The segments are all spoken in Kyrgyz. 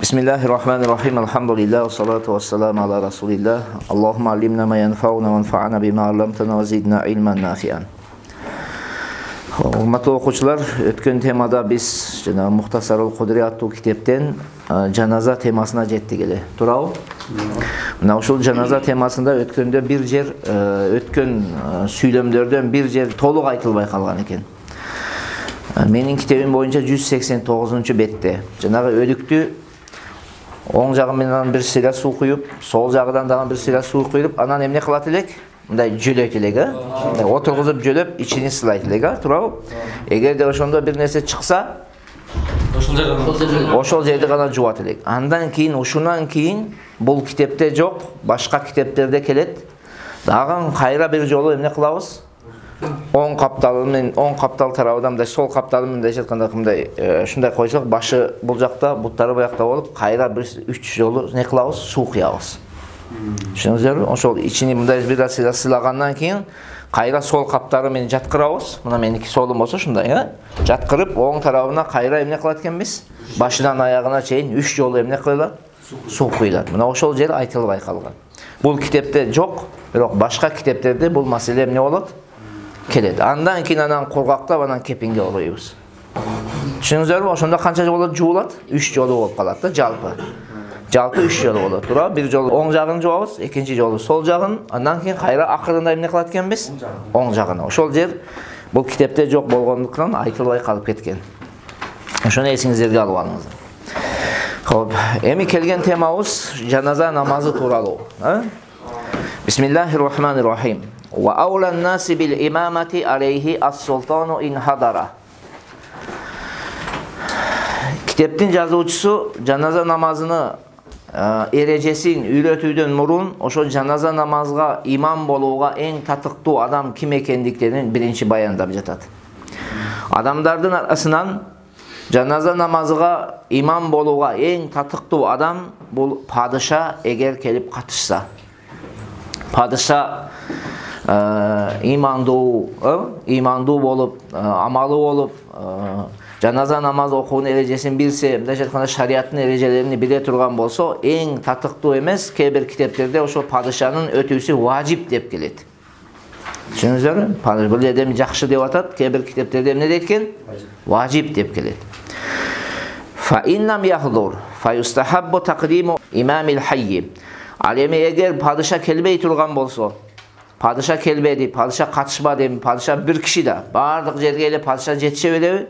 Bismillahirrahmanirrahim. Elhamdülillah ve salatu ve selamu ala Resulillah. Allahümme allimna ma yanfa'una ve anfa'na bima 'allamtana ve zidna ilmen nafi'an. Hurmatly okuwçular, ötken temada biz jana Muhtasarul Kudri аттуу kitepten janaza temasına жетtik эле. Туурабы? Мына ушул janaza temasында өткөндө бир жер өткөн сүйлөмдөрдөн бир жер толук айтылбай калган экен. Менин китебим боюнча 189-бетте жанагы өлүктү оң жагы менен бир сыйра суу куюп, сол жагынан дагы бир сыйра суу куюп, анан эмне кылат элек? Мындай жөлөйт элек, отургузуп жөлөп, ичини сылайт элек, туурабы? Эгерде ошондо бир нерсе чыкса, ошол жерди гана жуат элек. Андан кийин, ушунан кийин бул китепте жок, башка китептерде келет. Дагы кайра бир жолу эмне кылабыз? Оң каптал тарабынан мындай, сол капталын мындай жатканда мындай ушундай койсок, башы бул жакта, буттары буякта болуп, кайра бир 3 жолу не кылабыз? Суу куябыз. Түшүнүңүздөрбү? Ошол ичини мындай бир сыйлагандан кийин кайра сол каптары менен жаткырабыз. Мына меники солум болсо ушундай, жаткырып, оң тарабына кайра эмне кылат экенбиз? Башынан аягына чейин 3 жолу эмне кылат? Суу куйлат. Мына ошол жер айтылбай калган. Бул китепте жок, бирок башка китептерде бул маселе эмне болот? Келет. Андан кийин анан кургактап, анан кепинге ороюбуз. Түшүнүңүздөрбү? Ошондо канча жолу жуулат? 3 жолу болуп калат да, жалпы. Жалпы 3 жолу болот, туурабы? Бир жолу оң жагын жуабыз, экинчи жолу сол жагын, андан кийин кайра акырында эмне кылат экенбиз? Оң жагына. Ошол жер бул китепте жок болгондуктан айтылбай калып кеткен. Ошону эсиңиздерге алып алыңыздар. Хоп, эми келген темабыз жаназа намазы тууралуу. Бисмиллахиррахманиррахим. Wa awlan nasi bil imamati alayhi as-sultanu in hadara. Kiteptin жазуучусу жаназа намазыны эрежесин үйрөтүүдөн мурун ошо жаназа намазга имам болууга эң татыктуу адам ким экендиктерин биринчи баяндап жатат. Адамдардын арасынан жаназа намазыга имам болууга эң татыктуу адам бул падыша эгер келип катышса. Падыша имандуу болуп, амалы болуп, жаназа намаз окуунун эрежесин билсе, мындайча айтканда шариаттын эрежелерин биле турган болсо, эң татыктуу эмес, кээ бир китептерде ошол падышанын өтүүсү важип деп келет. Түшүнүңүздөрбү? Бул жерде жакшы деп атат, кээ бир китептерде эмне дейт экен? Важип деп келет. Fa innam yahdur fa yustahabbu taqdimu imamil hayy. Ал эми эгер падыша келбей турган болсо, падыша келбеди, падыша катышпады, эми падыша бир киши да, бардык жерге эле падыша жетише белеби?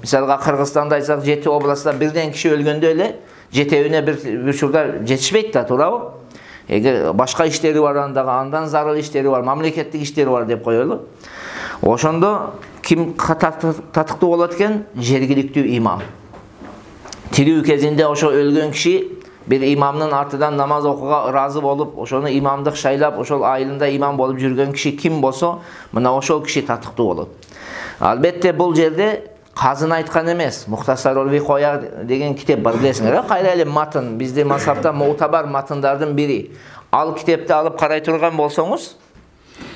Мисалга Кыргызстанда айтсак, 7 областта бирден киши өлгөндө эле жетеуине бир учурда жетишпейт да, туурабы? Эгер башка иштери бар, андан зарыл иштери бар, мамлекеттик иштери бар деп коелу. Ошондо ким татыктуу болот экен? Жергиликтүү имам. Тирүү кезинде ошо өлгөн киши бир имамдын артынан намаз окууга ыраазы болуп, ошону имамдык шайлап, ошол айылында имам болуп жүргөн киши ким болсо, мына ошол киши татыктуу болот. Албетте бул жерде казын айткан эмес. Мухтасарул Викоя деген китеп бар, билесиңер, кайра эле матын, биздин мазхабта муутабар матындардын бири. Ал китепти алып карай турган болсоңуз,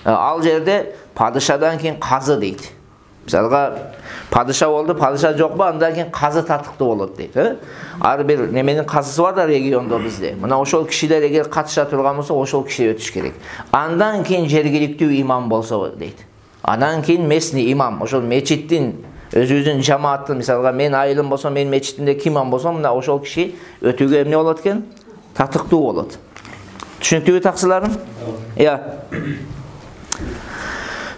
ал жерде падышадан кийин казы дейт. Мисалга падыша болду, падыша жокпу, андан кийин казы татыктуу болот дейт. Ар бир неменин казысы бар да региондо бизде. Мына ошол кишилер эгер катыша турган болсо, ошол киши өтүш керек. Андан кийин жергиликтүү имам болсо дейт. Андан кийин местный имам, ошол мечиттин өзүбүздүн жамааттын, мисалга мен айылым болсо, мен мечитимде ким имам болсо, мына ошол киши өтүүгө эмне болот экен? Татыктуу болот. Түшүнүктүүбү таксыларым?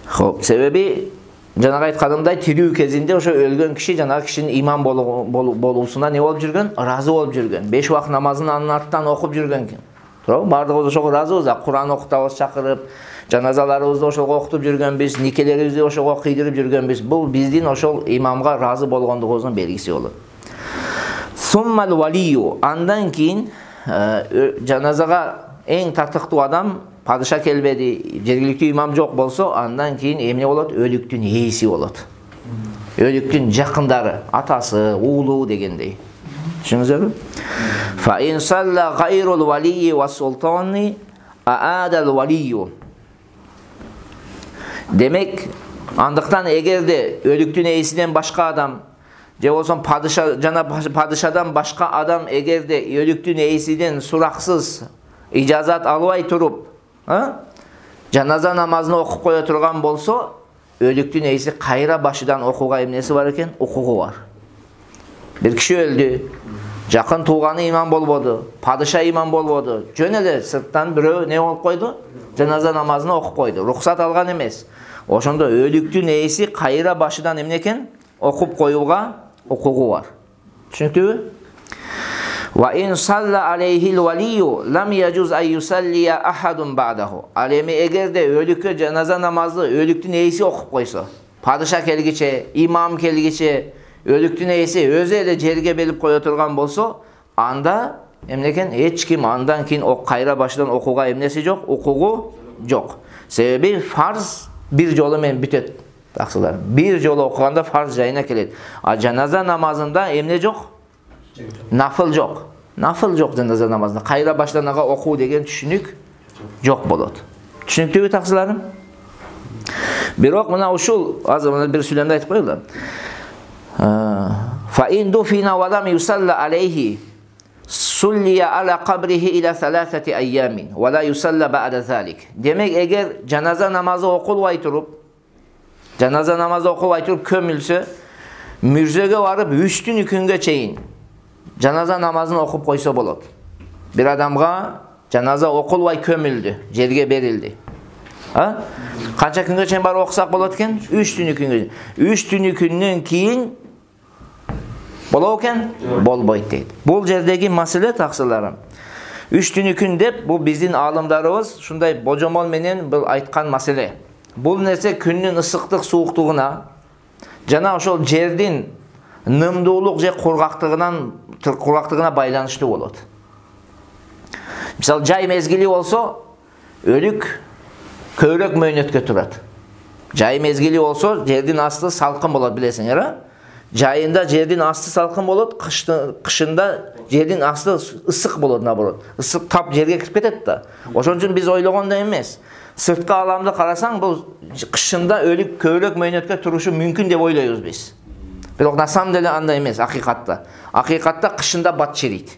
Хоп, себеби жанагы айтканымдай тирүү кезинде ошо өлгөн киши жанагы кишинин имам болуусуна не болуп жүргөн? Ыраазы болуп жүргөн. 5 убакыт намазын анын артынан окуп жүргөн. Туурабы? Бардыгыбыз ошого ыраазыбыз, Кур'ан окутабыз, чакырып, жаназаларыбызды ошого окутуп жүргөнбүз, никелерибизди ошого кыйдырып жүргөнбүз. Бул биздин ошол имамга ыраазы болгондугубуздун белгиси болот. Суммал валию, андан кийин жаназага эң татыктуу адам падыша келбеди, жергиликтүү имам жок болсо, андан кийин эмне болот? Өлүктүн ээси болот. Өлүктүн жакындары, атасы, уулу дегендей. Түшүнүңүздөрбү? Fa in salla ghayrul waliyyi was sultani aadal waliyyu. Демек, андыктан эгерде өлүктүн ээсинен башка адам же болсо падыша жана падышадан башка адам эгерде өлүктүн ээсинен сураксыз ижазат албай туруп, жаназа намазын окуп кое турган болсо, өлүктүн ээси кайра башыдан окууга эмнеси бар экен? Укугу бар. Бир киши өлдү, жакын тууганы имам болбоду, падыша имам болбоду. Жөн эле сырттан бирөө не болуп койду? Жаназа намазын окуп койду. Рухсат алган эмес. Ошондо өлүктүн ээси кайра башыдан эмне экен? Окуп коюуга укугу бар. Түшүнүктүбү? Wa in salla alayhi al-waliy lam yajuz an yusalli ahadun ba'dahu. Ал эми эгерде өлүккө жаназа намазы өлүктүн ээси окуп койсо, падыша келгиче, имам келгиче, өлүктүн ээси өзү эле жерге белип кое турган болсо, анда эмне экен? Эч ким андан кийин кайра башыдан окууга эмнеси жок? Укугу жок. Себеби фарз бир жолу менен бүтөт. Таксылар. Бир жолу окуганда фарз жайына келет. А жаназа намазында эмне жок? Нафыл жок. Нафыл жок жаназа намазында. Кайра башыдан ага окуу деген түшүнүк жок болот. Түшүнүктүүбү таксыларым? Бирок мына ушул азыр мына бир сүйлөмдү айтып коелу. Fa in dufina wa lam yusalla alayhi sulliya ala qabrihi ila 3 ayyamin wa la yusalla ba'da zalik. Demek эгер жаназа намазы окулбай туруп, көмүлсө, мүрзөгө барып 3 күнгө чейин жаназа намазын окуп койсо болот. Бир адамга жаназа окулбай көмүлдү, жерге берилди. Канча күнгө чейин барып окусак болот экен? 3 күнгө. 3 күндөн кийин болот экен? Болбойт дейт. Бул жердеги маселе таксыларым. 3 күн деп бул биздин аалымдарыбыз ушундай божомол менен бул айткан маселе. Бул нерсе күндүн ысыктык сууктугуна жана ошол жердин нымдуулук же кургактыгына байланыштуу болот. Мисалы жай мезгили болсо, өлүк көбүрөөк мөөнөткө турат. Жай мезгили болсо, жердин асты салкын болот, билесиңер, а? Жайында жердин асты салкын болот, кышында жердин асты ысык болот, наоборот. Ысык тап жерге кирип кетет да. Ошон үчүн биз ойлогондой эмес. Сырткы аламды карасаң, бул кышында өлүк көбүрөөк мөөнөткө турушу мүмкүн деп ойлойбуз биз. Бирок на самом деле андай эмес, акыйкатта. Акыйкатта кышында бат чирийт.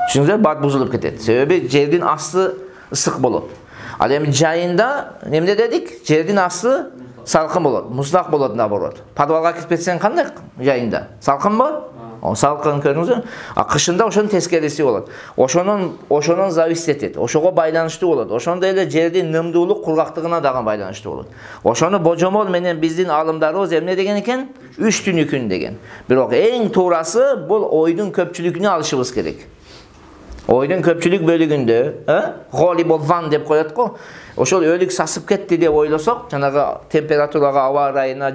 Түшүнүңүздөр, бат бузулуп кетет. Себеби жердин асты ысык болот. Ал эми жайында эмне дедик? Жердин асты салкын болот, муздак болот, наоборот. Подвалга кирип кетсең кандай жайында? Салкынбы? Салкын, көрдүңүзбү? А кышында ошонун тескериси болот. Ошонун зависит этет. Ошого байланыштуу болот. Ошондой эле жердин нымдуулук кургактыгына дагы байланыштуу болот. Ошону божомол менен биздин аалымдарыбыз эмне деген экен? 3 күн деген. Бирок эң туурасы бул ойдун көпчүлүгүнө алышыбыз керек. Ойдун көпчүлүк бөлүгүндө, голиболван деп коет го. Ошол өлүк сасып кетти деп ойлосок, жанагы температурага, аба ырайына,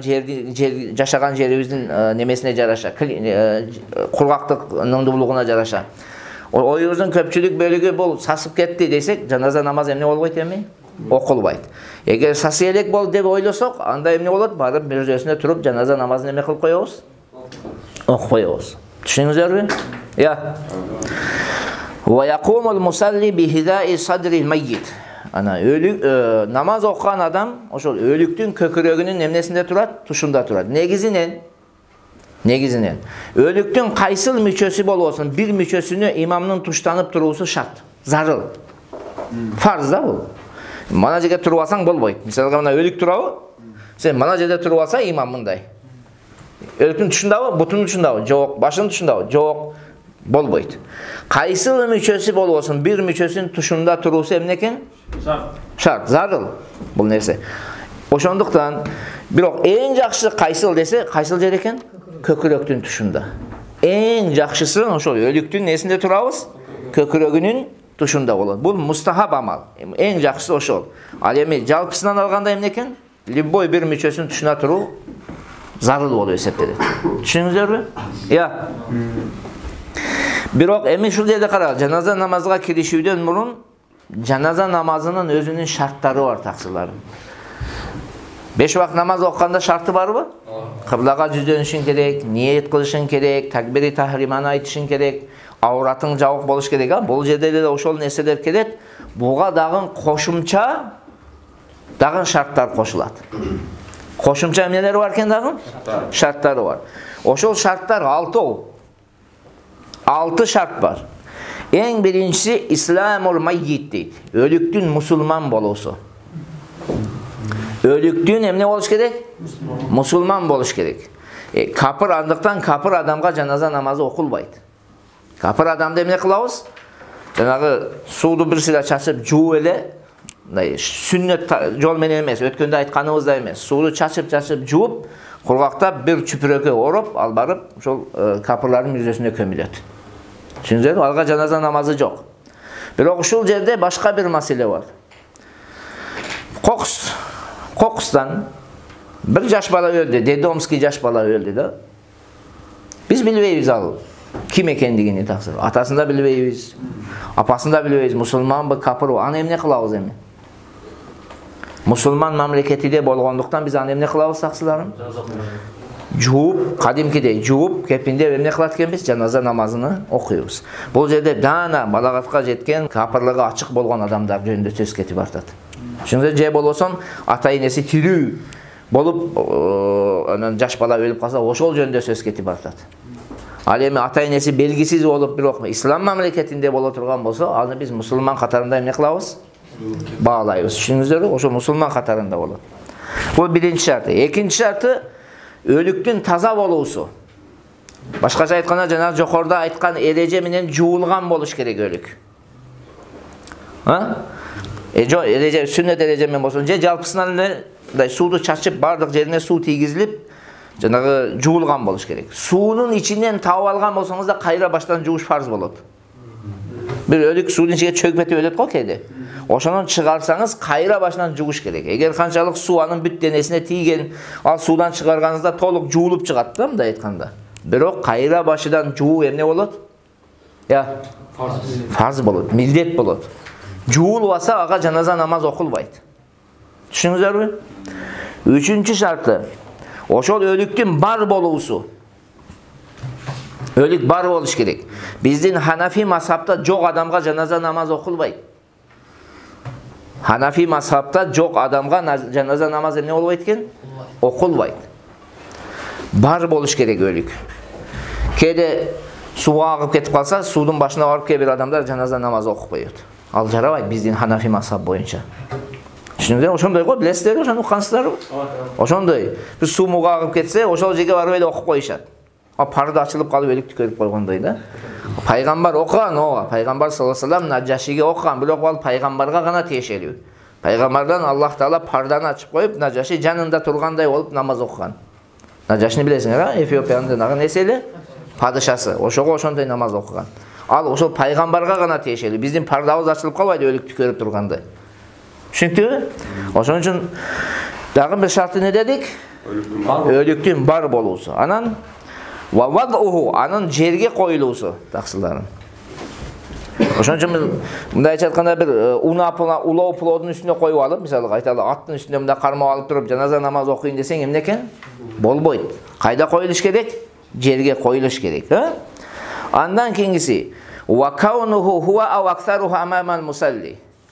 жашаган жерибиздин немесине жараша, кургактык нымдуулугуна жараша. Оюбуздун көпчүлүк бөлүгү бул сасып кетти десек, жаназа намаз эмне болбойт эми? Окулбайт. Эгер сасы элек болду деп ойлосок, анда эмне болот? Барып мирзөсүнө туруп жаназа намазын эме кылып коебуз? Окуп коебуз. Түшүнүңүздөрбү? Wa yaqumul musalli bi hida'i sadril mayyit. Ana namaz окуган адам ошол өлүктүн көкүрөгүнүн эмнесинде турат? Тушунда турат. Негизинен өлүктүн кайсыл мүчөсү болбосун, бир мүчөсүнө имамдын туштанып туруусу шарт, зарыл. Фарз да бул. Мана жерге туруп алсаң болбойт. Мисалга мына өлүк турабы? Сен мана жерде туруп алса имам мындай. Өлүктүн тушундабы? Бутунун тушундабы? Жок. Башынын тушундабы? Жок. Болбойт. Кайсыл мүчөсү болбосун, бир мүчөсүнүн тушунда туруусу эмне экен? Шарт, зарыл бул нерсе. Ошондуктан бирок эң жакшысы кайсыл десе, кайсыл жер экен? Көкүрөктүн тушунда. Эң жакшысы ошол өлүктүн несинде турабыз? Көкүрөгүнүн тушунда болот. Бул мустахаб амал. Эң жакшысы ошол. Ал эми жалпысынан алганда эмне экен? Любой бир мүчөсүнүн тушуна туруу зарыл болуп эсептелет. Түшүнүңүздөрбү? Бирок эми ушул жерде карагыла, жаназа намазга киришүүдөн мурун жаназа намазынын өзүнүн шарттары бар, таксыларым. 5 убакыт намаз окуганда шарты барбы? Кыблага жүздөнүшүң керек, ниет кылышың керек, такбири тахриманы айтышың керек, ауратың жабык болуш керек. Бул жерде эле ошол нерселер келет. Буга дагы кошумча дагы шарттар кошулат. Кошумча эмнелери бар экен дагы? Шарттары бар. Ошол шарттар 6. 6 шарт бар. Эң биринчиси исламул маййит дейт. Өлүктүн мусулман болуусу. Өлүктүн эмне болуш керек? Мусулман болуш керек. Капыр, андыктан капыр адамга жаназа намазы окулбайт. Капыр адамды эмне кылабыз? Жанагы сууду бир сыйра чачып жууп эле, сүннөт жол менен эмес, өткөндө айтканыбыздай эмес. Сууду чачып жууп, кургактап бир чүпүрөккө ороп, ал барып ошол капырлардын мүрөсүнө көмүлөт. Түшүндүңүзбү? Алга жаназа намазы жок. Бирок ушул жерде башка бир маселе бар. Кокустан bir жаш бала өлдү, Дедомский жаш бала өлдү да. Биз билбейбиз ал ким экендигини таксыр. Атасын да билбейбиз, апасын да билбейбиз, мусулманбы, капырбы. Аны эмне кылабыз эми? Мусулман мамлекетиде болгондуктан биз аны эмне кылабыз таксыларым? Жууп, кадимкидей жууп, кепиндеп эмне кылат экенбиз? Жаназа намазыны окуйбуз. Бул жерде даана балагатка жеткен, капырлыгы ачык болгон адамдар жөнүндө сөз кетип артат. Шуңда же болбосо ата-энеси тирүү болуп, анан жаш бала өлүп калса, ошол жөнүндө сөз кетип артат. Ал эми ата-энеси белгисиз болуп, бирок ислам мамлекетинде боло турган болсо, аны биз мусулман катарында эмне кылабыз? Баалайбыз. Түшүндүңүздөрбү? Ошо мусулман катарында болот. Бул биринчи шарты. Экинчи шарты өлүктүн таза болуусу. Башкача айтканда, жана жокоруда айткан эреже менен жуулган болуш керек өлүк. Эреже, сүннөт эреже менен болсо, же жалпысынан эле сууду чачып, бардык жерине суу тийгизилип, жанагы жуулган болуш керек. Суунун ичинен таап алган болсоңуз да кайра баштан жууш фарз болот. Бир өлүк суунун ичине чөгүп кетип өлөт го кээде. Ошону чыгарсаңыз, кайра башынан жууш керек. Эгер канчалык суу анын бүт денесине тийген, ал суудан чыгарганыңызда толук жуулуп чыгат да, мындай айтканда. Бирок кайра башыдан жуу эмне болот? Фарз болот, милдет болот. Жуулбаса ага жаназа намаз окулбайт. Түшүндүңүздөрбү? Үчүнчү шарты. Ошол өлүктүн бар болуусу. Өлүк бар болуш керек. Биздин Ханафи мазхабта жок адамга жаназа намаз окулбайт. Ханафи мазхабта жок адамга жаназа намаз эмне болбойт экен? Окулбайт. Бар болуш керек өлүк. Кээде сууга агып кетип калса, суудун башына барып кээ бир адамдар жаназа намаз окуп коёт. Ал жарабайт биздин Ханафи мазхаб боюнча. Түшүндүңүзбү? Ошондой го, билесиздерби, ошону уккансыздарбы? Ошондой. Бир суу мууга агып кетсе, ошол жерге барып эле окуп коюшат. Парды ачылып калып өлүк түкөрүп койгондой да. Пайгамбар окуган, ооба. Пайгамбар саллаллаху алейхи ва саллям Наджашиге окуган, бирок ал пайгамбарга гана тиешелүү. Пайгамбардан Аллах Таала парданы ачып коюп, Наджаши жанында тургандай болуп намаз окуган. Наджашини билесиңер, Эфиопиянын нагы неселе падышасы. Ошого ошондой намаз окуган. Ал ошол пайгамбарга гана тиешелүү. Биздин пардабыз ачылып калбайт өлүк түкөрүп тургандай. Түшүнүктүбү? Ошон үчүн дагы бир шарты не дедик? Өлүктүн бар болуусу. Анан анын жерге коюлуусу, таксыларым. Ошон үчүн мындай айтканда бир улоо плодун үстүнө коюп алып, мисалы айталы аттын үстүнө мындай кармап алып туруп жаназа намаз окуйн десең эмне экен? Болбойт. Кайда коюлуш керек? Жерге коюлуш керек, Андан кийинкиси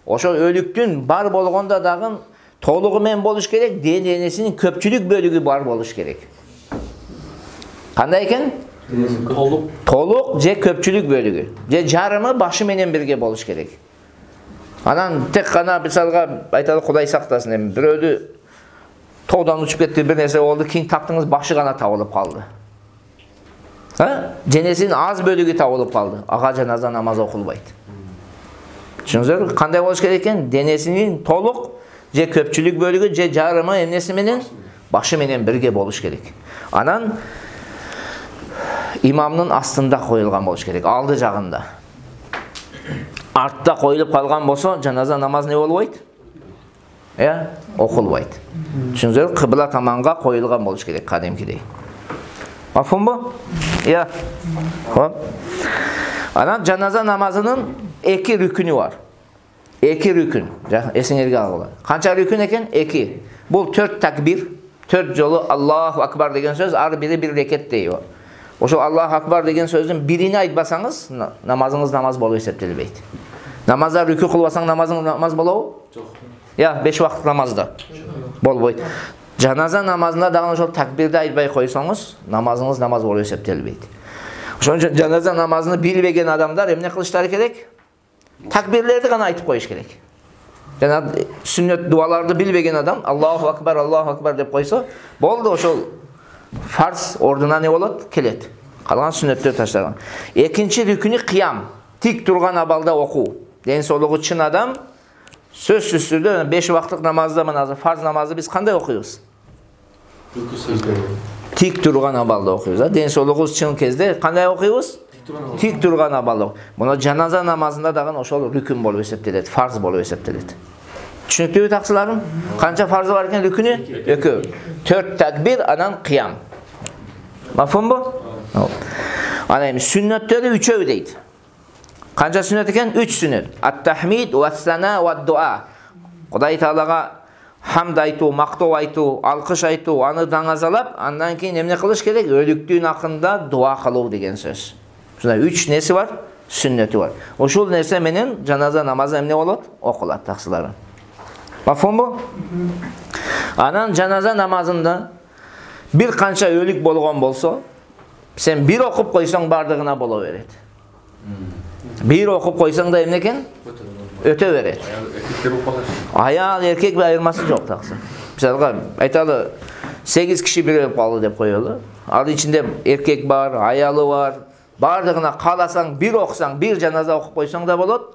ошол өлүктүн бар болгондо дагы толугу менен болуш керек, денесинин көпчүлүк бөлүгү бар болуш керек. Кандай экен? Толук же көпчүлүк бөлүгү. Же жарымы башы менен бирге болуш керек. Анан тек гана мисалга айталы Кудай сактасын, эми бирөөдү тоодон учуп кетти, бир нерсе болду, кийин таптыңыз башы гана табылып калды. Денесинин аз бөлүгү табылып калды. Ага жаназа намаз окулбайт. Түшүндүңүздөрбү? Кандай болуш керек экен? Денесинин толук же көпчүлүк бөлүгү же жарымы эмнеси менен? Башы менен бирге болуш керек. Анан имамдын астында коюлган болуш керек, алды жагында. Артта коюлуп калган болсо, жаназа намаз не болбойт? Окулбайт. Түшүндүңүздөрбү? Кыбла таманга коюлган болуш керек, кадимкидей. Мафхумбу? Хоп. Анан жаназа намазынын 2 рүкүнү бар. 2 рүкүн. Эсиңерге алгыла. Канча рүкүн экен? 2. Бул 4 такбир, 4 жолу Аллаху акбар деген сөз, ар бири бир рекет дейби. Ошол Аллаху акбар деген сөздүн бирини айтпасаңыз, намазыңыз намаз болуп эсептелбейт. Намазда рүкү кылбасаң намазың намаз болобу? Жок. 5 убакыт намазда болбойт. жаназа намазында дагы ошол такбирди айтпай койсоңуз, намазыңыз намаз болуп эсептелбейт. Ошон үчүн жаназа намазын билбеген адамдар эмне кылыштары керек? Такбирлерди гана айтып коюш керек. Жана сүннөт дуаларды билбеген адам Аллаху акбар деп койсо, болду, ошол фарз ордуна не болот? Келет. Калган сүннөттөр ташталган. Экинчи рүкүнү кыям, тик турган абалда окуу. Ден соолугу чын адам сөзсүз түрдө 5 убакыттык намазда мына фарз намазды биз кандай окуйбуз? Тик турган абалда окуйбуз. Ден соолугубуз чын кезде кандай окуйбуз? Тик турган абалда. Муну жаназа намазында дагы ошол рүкүн болуп эсептелет, фарз болуп эсептелет. Түшүнүктүүбү таксыларым? Канча фарзы бар экен рүкүнү? 2. 4 такбир, анан кыям. Мафумбу? Ана эми сүннөттөрү 3 дейт. Канча сүннөт экен? 3 сүннөт. Ат-тахмид ва-сана ва-дуа. Кудай Таалага хамд айтуу, мактоо айтуу, алкыш айтуу, аны даңазалап, андан кийин эмне кылыш керек? Өлүктүн акында дуа кылуу деген сөз. Ушундай 3 неси бар? Сүннөтү бар. Ушул нерсе менен жаназа намазы эмне болот? Окулат таксыларым. Мафумбу? Анан жаназа намазында бир канча өлүк болгон болсо, сен бир окуп койсоң бардыгына боло берет. Бир окуп койсоң да эмне экен? Өтө берет. Аял эркек айырмасы жок таксы. Мисалга айталы 8 киши бирелип калды деп коелу. Ал ичинде эркек бар, аялы бар. Бардыгына кааласаң бир окусаң, бир жаназа окуп койсоң да болот.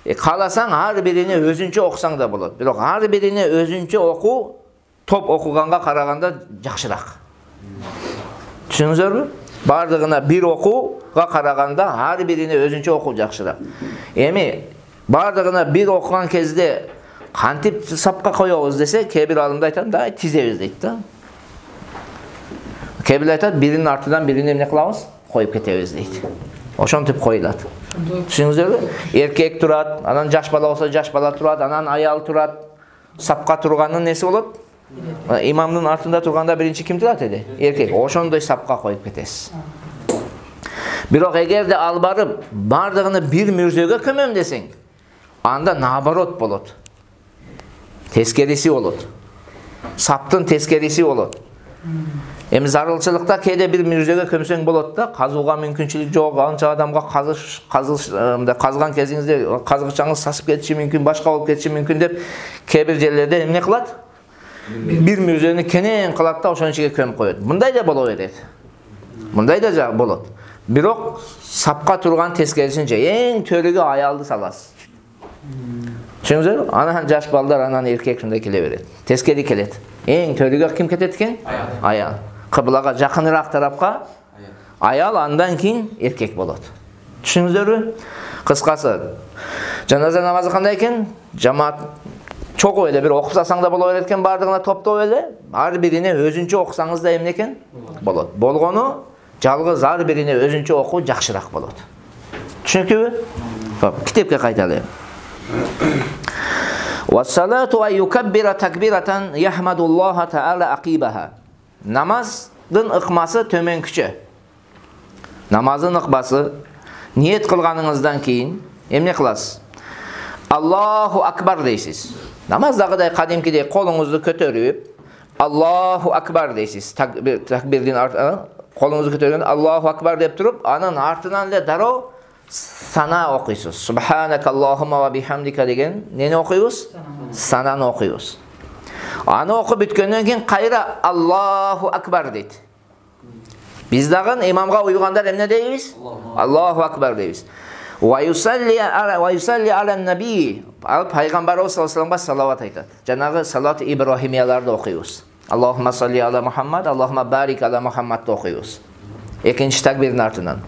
Кааласаң ар бирине өзүнчө окусаң да болот. Бирок ар бирине өзүнчө окуу топ окуганга караганда жакшыраак. Түшүнүңүздөрбү? Бардыгына бир окууга караганда ар бирине өзүнчө окуу жакшыраак. Эми бардыгына бир окуган кезде кантип сапка коебуз десе, кээ бир алымда айтат, да тизебиз дейт да. Кээ бир айтат, биринин артынан бирине эмне кылабыз? Коюп кетебиз дейт. Ошентип коюлат. Түшүнүңүздөрбү? Эркек турат, анан жаш бала болсо жаш бала турат, анан аял турат. Сапка турганын неси болот? Имамдын артында турганда биринчи ким турат эди? Эркек. Ошондой сапка коюп кетесиз. Бирок эгерде ал барып бардыгыны бир мүрзөгө көмөм десең, анда наоборот болот. Тескериси болот. Саптын тескериси болот. Эми зарылчылыкта кээде бир мүрзөгө көмсөң болот да, казууга мүмкүнчүлүк жок, анча адамга казган кезиңизде казгычаңыз сасып кетиши мүмкүн, башка болуп кетиши мүмкүн деп кээ бир жерлерде эмне кылат? Бир мүрзөнү кенен кылат да ошонун ичиге көмүп коет. Мындай да боло берет. Мындай да болот. Бирок сапка турган тескерисинче эң төрүгө аялды саласыз. Түшүнүңүздөр? Анан жаш балдар, анан эркек шундай келе берет. Тескери келет. Эң төрүгө ким кетет экен? Аял. Кыблага жакыныраак тарапка аял, андан кийин эркек болот. Түшүнүңүздөрбү? Кыскасы, жаназа намазы кандай экен? Жамаат чогуу эле бир окуп салсаң да боло берет экен, бардыгына топтоп эле, ар бирине өзүнчө окусаңыз да эмне экен? Болот. Болгону жалгыз ар бирине өзүнчө окуу жакшыраак болот. Түшүнүктүүбү? Хоп, китепке кайталы. Ва-салату ай-юкаббира такбирatan яхмадуллаха таала акибаха. Намаздын ыкмасы төмөнкүчө. Намаздын ыкмасы ниет кылганыңыздан кийин эмне кыласыз? Аллаху акбар дейсиз. Намаздагыдай кадимкидей колуңузду көтөрүп, Аллаху акбар дейсиз. Такбирдин колуңузду көтөргөндө Аллаху акбар деп туруп, анын артынан эле дароо сана окуйсуз. Субханакаллахумма ва бихамдика деген нени окуйбуз? Сананы окуйбуз. Аны окуп бүткөндөн кийин кайра Аллаху акбар дейт. Биз дагы имамга уйгандар эмне дейбиз? Аллаху акбар дейбиз. Ва юсалли алан наби. Пайгамбарыбыз саллаллаху алейхи ва салламга салават айтат. Жанагы салат ибрахимияларды окуйбуз. Аллахумма салли ала Мухаммад, Аллахумма барик ала Мухаммадды окуйбуз. Экинчи такбирдин артынан.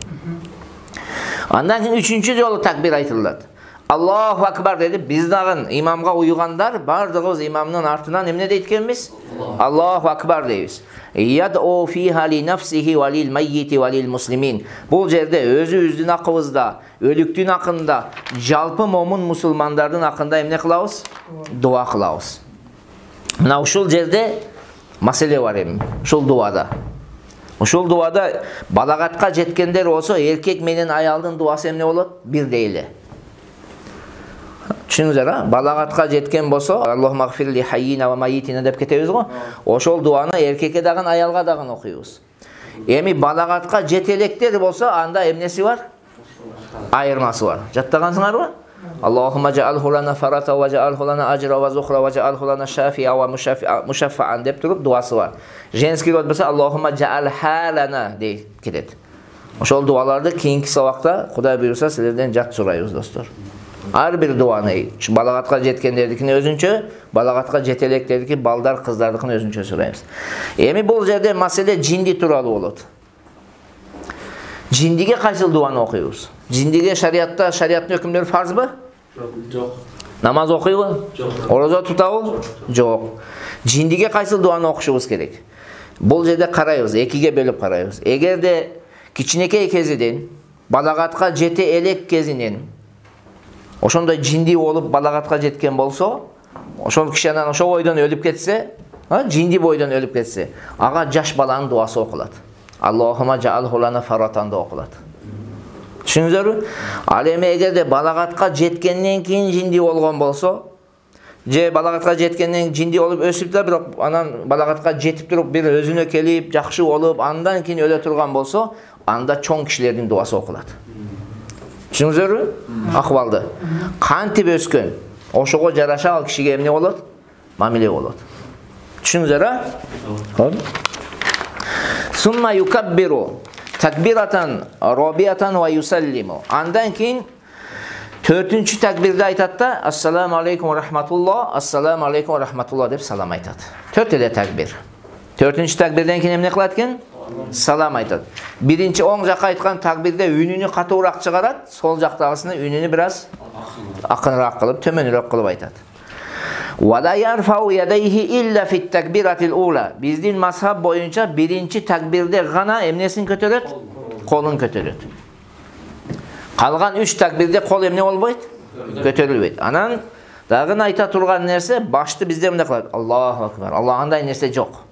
Андан кийин үчүнчү жолу такбир айтылат. Аллаху акбар деди. Биз дагы имамга уйгандар бардыгыбыз имамдын артынан эмне дейт экенбиз? Аллаху акбар дейбиз. Яд'у фиха ли нафсихи ва лил маййити ва лил муслимин. Бул жерде өзүбүздүн акыбызда, өлүктүн акында, жалпы момун мусулмандардын акында эмне кылабыз? Дуа кылабыз. Мына ушул жерде маселе бар эми. Ушул дуада балагатка жеткендер болсо, эркек менен аялдын дуасы эмне болот? Бирдей эле. Түшүнүңүздөр, балагатка жеткен болсо, Аллахумма гфир ли хаййина ва майитина деп кетебиз го. Ошол дуаны эркекке дагы, аялга дагы окуйбуз. Эми балагатка жете электер болсо, анда эмнеси бар? Айырмасы бар. Жаттагансыңарбы? Аллахумма жаалху лана фарата ва жаалху лана ажра ва зухра ва жаалху лана шафия ва мушаффаан деп туруп дуасы бар. Женский род болсо Аллахумма жаал халана деп кетет. Ошол дуаларды кийинки сабакта Кудай буйруса силерден жат сурайбыз, достор. Ар бир дуаны балагатка жеткендердикини өзүнчө, балагатка жете электердики балдар, кыздардыкын өзүнчө сурайбыз. Эми бул жерде маселе жинди тууралуу болот. Жиндиге кайсыл дуаны окуйбуз? Жиндиге шариаттын өкүмдөрү фарзбы? Жок. Намаз окуйбу? Жок. Орозо тутабы? Жок. Жиндиге кайсыл дуаны окушубуз керек? Бул жерде карайбыз, экиге бөлүп карайбыз. Эгерде кичинекей кезинен балагатка жете элек кезинен ошондой жинди болуп балагатка жеткен болсо, ошол киши анан ошол бойдон өлүп кетсе, жинди бойдон өлүп кетсе, ага жаш баланын дуасы окулат. Аллахума жаалху лана фаратанда окулат. Түшүнүңүздөрбү? Ал эми эгерде балагатка жеткенден кийин жинди болгон болсо, же балагатка жеткенден жинди болуп өсүп да, бирок анан балагатка жетип туруп бир өзүнө келип, жакшы болуп, андан кийин өлө турган болсо, анда чоң кишилердин дуасы окулат. Түшүнүңүздөрбү? Акыбалды. Кантип өскөн, ошого жараша ал кишиге эмне болот? Мамиле болот. Түшүнүңүздөр? Сумма юкаббиру такбиратан робиятан ва юсаллиму. Андан кийин 4-чү такбирде айтат да, ассаламу алейкум ва рахматуллах, ассаламу алейкум ва рахматуллах деп салам айтат. 4 эле такбир. 4-чү такбирден кийин эмне кылат экен? Салам айтат. Биринчи оң жакка айткан такбирде үнүнү катуураак чыгарат, сол жактагысыны үнүнү бираз акыныраак кылып, төмөнүрөөк кылып айтат. Вала ярфау ядайхи илля фит такбиратил ула. Биздин мазхаб боюнча биринчи такбирде гана эмнесин көтөрөт? Колун көтөрөт. Калган 3 такбирде кол эмне болбойт? Көтөрүлбөйт. Анан дагы айта турган нерсе, башты бизде эмне кылат? Аллаху акбар. Аллагандай нерсе жок.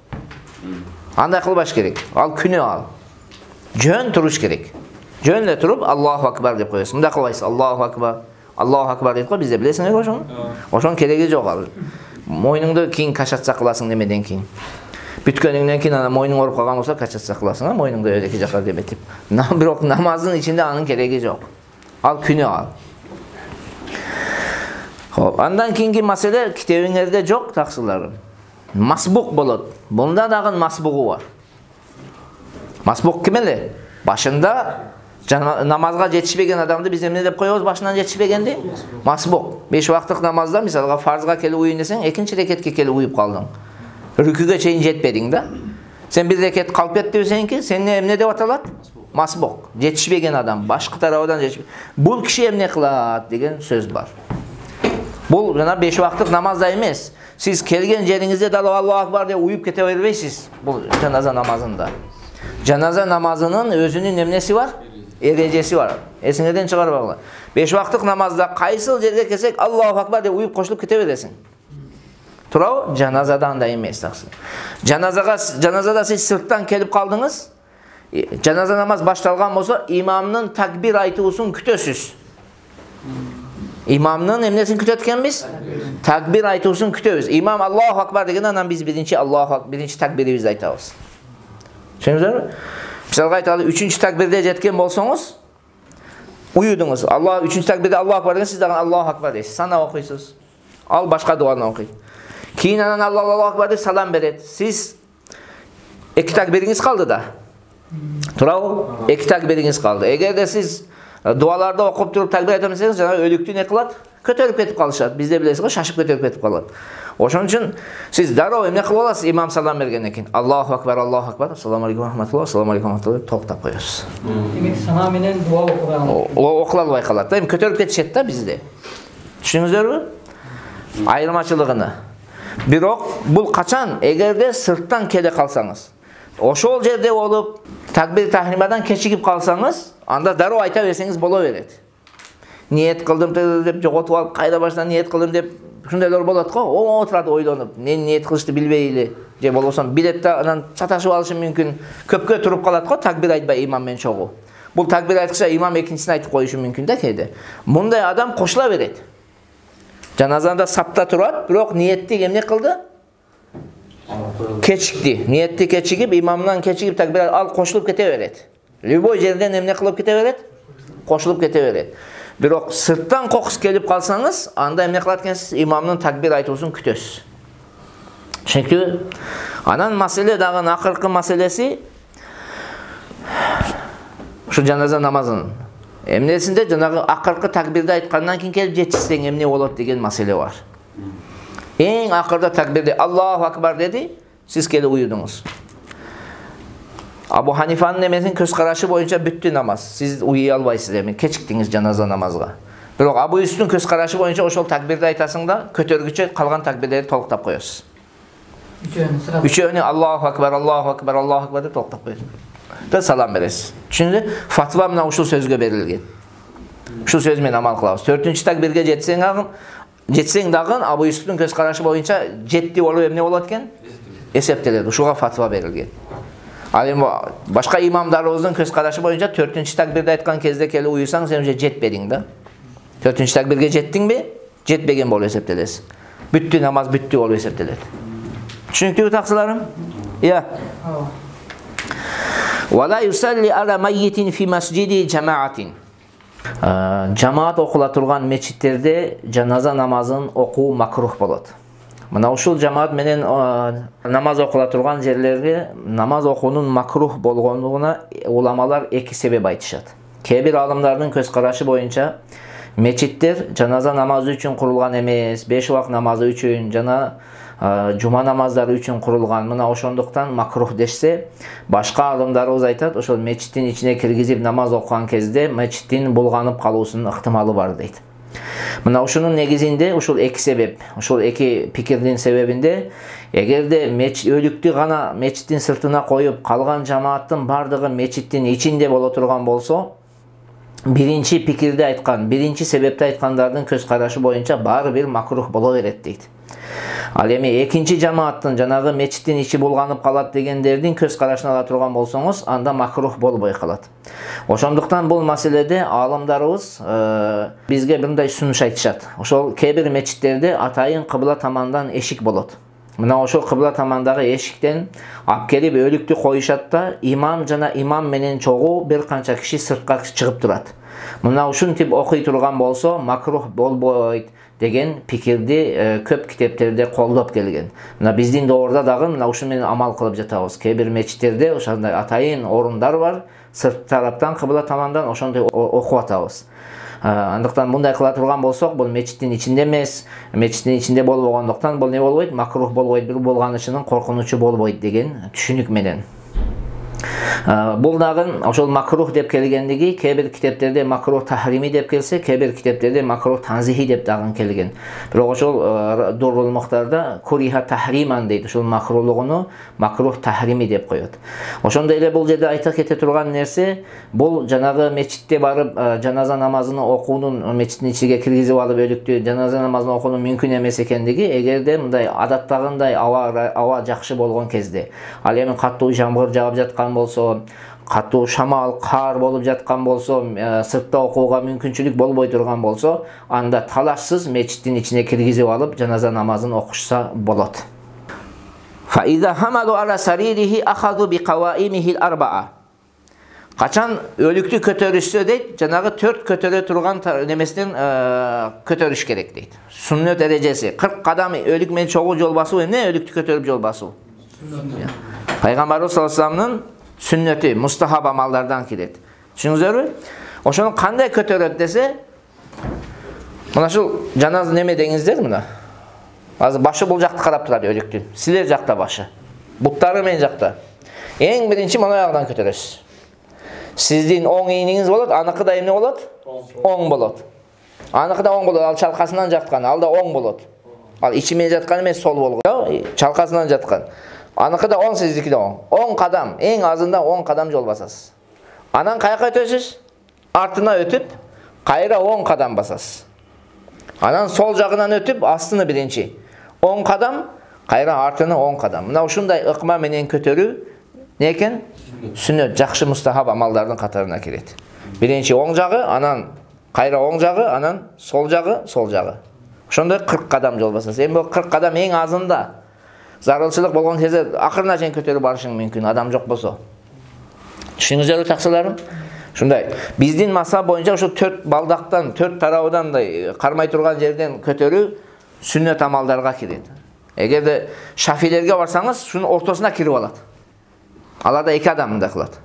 Андай кылбаш керек. Ал күнөө ал. Жөн туруш керек. Жөн эле туруп Аллаху акбар деп коесуң. Мындай кылбайсыз. Аллаху акбар. Аллаху акбар дейт го, бизде билесиңер ошону? Ошонун кереги жок ал. Мойнуңду кийин качатса кыласың немеден кийин. Бүткөнүңдөн кийин ана мойнуң ооруп калган болсо качатса кыласың, мойнуңду эки жакка деметип. Бирок намаздын ичинде анын кереги жок. Ал күнөө ал. Хоп, андан кийинки маселе китебиңерде жок, таксыларым. Масбук болот. Бунда дагы масбугу бар. Масбук ким эле? Башында намазга жетишпеген адамды биз эмне деп коебуз башынан жетишпегенди? Масбук. 5 вакыттык намазда мисалга фарзга келип уюн десең, экинчи рекетке келип уюп калдың. Рүкүгө чейин жетпедиң да. Сен бир рекет калып кетти десеңки, сен эмне деп аталат? Масбук. Жетишпеген адам, башкы тарабынан жетишпеген. Бул киши эмне кылат деген сөз бар. Бул жана 5 вакыттык намазда эмес. Сиз келген жериңизде дал Аллаху акбар деп уюп кете бербейсиз. Бул жаназа намазында. Жаназа намазынын өзүнүн эмнеси бар? Эрежеси бар. Эсиңерден чыгарбагыла. 5 вакыттык намазда кайсыл жерге келсек Аллаху акбар деп уюп кошулуп кете бересиң. Турабы? Жаназада андай эмес таксы. Жаназада сиз сырттан келип калдыңыз. Жаназа намаз башталган болсо, имамдын такбир айтуусун күтөсүз. Имамдын эмнесин күтөт экенбиз? Такбир айтуусун күтөбүз. Имам Аллаху акбар деген анан биз биринчи такбирибизди айтабыз. Түшүндүңүзбү? Мисалга айталы 3-чү такбирде жеткен болсоңуз, уюдуңуз. Аллах 3-чү такбирде Аллаху акбар деген, сиз дагы Аллаху акбар дейсиз. Сана окуйсуз. Ал башка дуаны окуйт. Кийин анан Аллаху акбар деп салам берет. Сиз 2 такбириңиз калды да. Турабы? 2 такбириңиз калды. Эгерде сиз дуаларда окуп туруп такбир айтам десеңиз, жана өлүктү не кылат? Көтөрүп кетип калышат. Бизде билесиз го, шашып көтөрүп кетип калат. Ошон үчүн сиз дароо эмне кылып аласыз? Имам салам бергенден кийин Аллаху акбар, ассаламу алейкум рахматуллах, ассаламу алейкум рахматуллах токтоп коесуз. Демек сана менен дуа окуган. Окула албай калат да, эми көтөрүп кетишет да бизде. Түшүнүңүздөрбү? Айырмачылыгыны. Бирок бул качан? Эгерде сырттан келе калсаңыз, ошол жерде болуп такбир тахримадан кечигип калсаңыз, анда дароо айта берсеңиз боло берет. Ниет кылдым деп жоготуп алып, кайра баштан ниет кылдым деп ушундайлар болот го. Отурат ойлонуп, мен ниет кылышты билбей эле, же болбосо билет да анан чаташып алышы мүмкүн. Көпкө туруп калат го такбир айтпай имам менен чогуу. Бул такбир айткыча имам экинчисин айтып коюшу мүмкүн да кээде. Мындай адам кошула берет. Жаназанда сапта турат, бирок ниетти эмне кылды? Кечикти. Ниетти кечигип, имамдан кечигип такбир ал кошулуп кете берет. Любой жерден эмне кылып кете берет? Кошулуп кете берет. Бирок сырттан кокус келип калсаңыз, анда эмне кылат экенсиз? Имамдын такбир айтуусун күтөсүз. Чүнкү анан маселе дагы акыркы маселеси ушу жаназа намазынын эмнесинде жанагы акыркы такбирди айткандан кийин келип жетишсең эмне болот деген маселе бар. Эң акырда такбирди Аллаху акбар деди, сиз келип уюдуңуз. Абу Ханифанын эмесин көз карашы боюнча бүттү намаз. Сиз уюй албайсыз эми, кечиктиңиз жаназа намазга. Бирок Абу Юсуфтун көз карашы боюнча ошол такбирди айтасың да, көтөргүчө калган такбирлерди толуктап коесуз. Үчөөнү Аллаху акбар, Аллаху акбар, Аллаху акбар деп толуктап коесуз. Да салам бересиз. Түшүндү? Фатва мына ушул сөзгө берилген. Ушул сөз менен амал кылабыз. 4-чү такбирге жетсең дагы Абу Юсуфтун көз карашы боюнча жетти болуп эмне болот экен? Эсептелет. Ушуга фатва берилген. Ал эми башка имамдарыбыздын көз карашы боюнча 4-чү такбирди айткан кезде келип уюсаң, сен уже жетпедиң да. 4-чү такбирге жеттиңби? Жетпеген болуп эсептелесиң. Бүттү намаз бүттү болуп эсептелет. Түшүнүктүүбү таксыларым? Иә. Вала юсалли ала майитин фи масжиди жамаатин. Жамаат окула турган мечиттерде жаназа намазын окуу макрух болот. Мына ушул жамаат менен намаз окула турган жерлерге намаз окуунун макрух болгондугуна уламалар эки себеп айтышат. Кээ бир алымдардын көз карашы боюнча мечиттер жаназа намазы үчүн курулган эмес, 5 убак намазы үчүн жана жума намаздары үчүн курулган. Мына ошондуктан макрух дешсе, башка алымдарыбыз айтат, ошол мечиттин ичине киргизип намаз окуган кезде мечиттин булганып калуусунун ыктымалы бар дейт. Мына ушунун негизинде ушул эки себеп, ушул эки пикирдин себебинде эгерде өлүктү гана мечиттин сыртына коюп, калган жамааттын бардыгы мечиттин ичинде боло турган болсо, биринчи пикирди айткан, биринчи себепти айткандардын көз карашы боюнча баары бир макрух боло берет дейт. Ал эми экинчи жамааттын жанагы мечиттин ичи булганып калат дегендердин көз карашын ала турган болсоңуз, анда макрух болбой калат. Ошондуктан бул маселеде алымдарыбыз бизге мындай сунуш айтышат. Ошол кээ бир мечиттерде атайын кыбла тамандан эшик болот. Мына ошол кыбла тамандагы эшиктен алып келип өлүктү коюшат да, имам жана имам менен чогуу бир канча киши сыртка чыгып турат. Мына ушинтип окуй турган болсо макрух болбойт деген пикирди көп китептерде колдоп келген. Мына биздин доорда дагы мына ушу менен амал кылып жатабыз. Кээ бир мечиттерде ошондой атайын орундар бар, сырт тараптан кыбла тамандан ошондой окуп атабыз. Андыктан мындай кыла турган болсок, бул мечиттин ичинде эмес, мечиттин ичинде болбогондуктан бул не болбойт? Макрух болбойт, бир булганычынын коркунучу болбойт деген түшүнүк менен. Бул дагы ошол макрух деп келгендиги кээ бир китептерде макрух тахрими деп келсе, кээ бир китептерде макрух танзихи деп дагы келген. Бирок ошол Дуррул Мухтарда куриха тахриман дейт. Ошол макрулугуну макрух тахрими деп коет. Ошондой эле бул жерде айта кете турган нерсе, бул жанагы мечитте барып жаназа намазын окуунун, мечиттин ичиге киргизип алып өлүктү жаназа намазын окуунун мүмкүн эмес экендиги, эгерде мындай адаттагындай аба жакшы болгон кезде, ал эми каттуу жамгыр жаап жаткан болсо, катуу шамал, кар болуп жаткан болсо, сыртта окууга мүмкүнчүлүк болбой турган болсо, анда талашсыз мечиттин ичине киргизип алып жаназа намазын окушса болот. Fa iza hamalu ala saririhi akhadhu bi qawaimihi al-arba'a. Качан өлүктү көтөрүшсө дейт, жанагы 4 көтөрө турган немесинен көтөрүш керек дейт. Сүннөт эрежеси 40 кадам өлүк менен чогуу жол басуу эмне? Өлүктү көтөрүп жол басуу. Пайгамбарыбыз саллаллаху алейхи вассаламдын сүннөтү, мустахаб амалдардан кирет. Түшүңүзөрбү? Ошону кандай көтөрөт десе, мына ушул жаназа неме деңиздер мына. Азыр башы бул жакта карап турат өлүктүн. Силер жакта башы. Буттары мен жакта. Эң биринчи мына жагдан көтөрөсүз. Сиздин оң ийниңиз болот, аныкы да эмне болот? Оң болот. Аныкы да оң болот, ал чалкасынан жаткан, ал да оң болот. Ал ичи менен жаткан эмес, сол болгон. Чалкасынан жаткан. Аныкы да оң, сиздики да оң. 10 кадам, эң азында 10 кадам жол басасыз. Анан каяка өтөсүз? Артына өтүп, кайра 10 кадам басасыз. Анан сол жагынан өтүп, астыны биринчи 10 кадам, кайра артыны 10 кадам. Мына ушундай ыкма менен көтөрүү не экен? Сүннөт, жакшы мустахаб амалдардын катарына кирет. Биринчи оң жагы, анан кайра оң жагы, анан сол жагы, сол жагы. Ошондой 40 кадам жол басасыз. Эми бул 40 кадам эң азында. Зарылчылык болгон кезде акырына чейин көтөрүп барышың мүмкүн, адам жок болсо. Түшүнүңүздөрбү таксыларым? Ушундай. Биздин масап боюнча ошо 4 балдактан, 4 тарабынан кармай турган жерден көтөрүү сүннөт амалдарга кирет. Эгерде шафилерге барсаңыз, шунун ортосуна кирип алат. Аларда 2 адам мындай кылат.